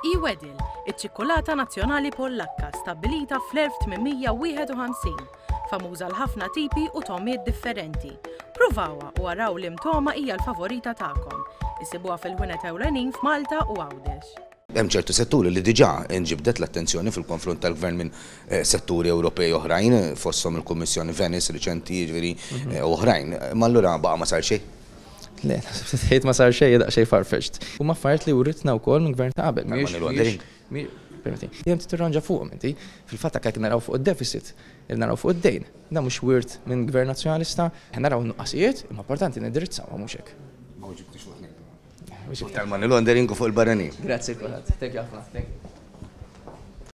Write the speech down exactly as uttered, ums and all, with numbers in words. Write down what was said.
E-Wedel, iċ-ċikkulata nazzjonali Pollakka stabbilita fl-elf tmien mija wieħed u ħamsin, famuża l-ħafna tipi u togħmiet differenti. Provawha u araw liema togħma hija l-favorita tagħkom. Issibuha fil-ħwienet ewlenin f'Malta u Għawdex. Hemm ċertu setturi li diġà nġibdet l-attenzjoni fil-konfront tal-gvern minn eh, setturi Ewropej oħrajn, fosthom il-Kummissjoni Venice riċenti, jiġifieri, eh, oħrajn. Ma allura baqa' ma sar xejn? Le, tgħid ma sar xejn daqsxejn farfetched. U ma affarijiet li writna wkoll minn gvern ta' qabel. Money laundering. Dejjem tirranġa fuqhom inti. Fil-fatt hekk naraw fuq id-deficit, naraw fuq id-dejn. Dan mhux wirt minn gvern nazzjonalista, naraw nuqqasijiet, imma importanti nindirizzaw, mhux hekk. Ma ġibtix fuq. Tal-money laundering u fuq il-barranin. Grazzi kulħadd. Thank you ħafna. Thank you.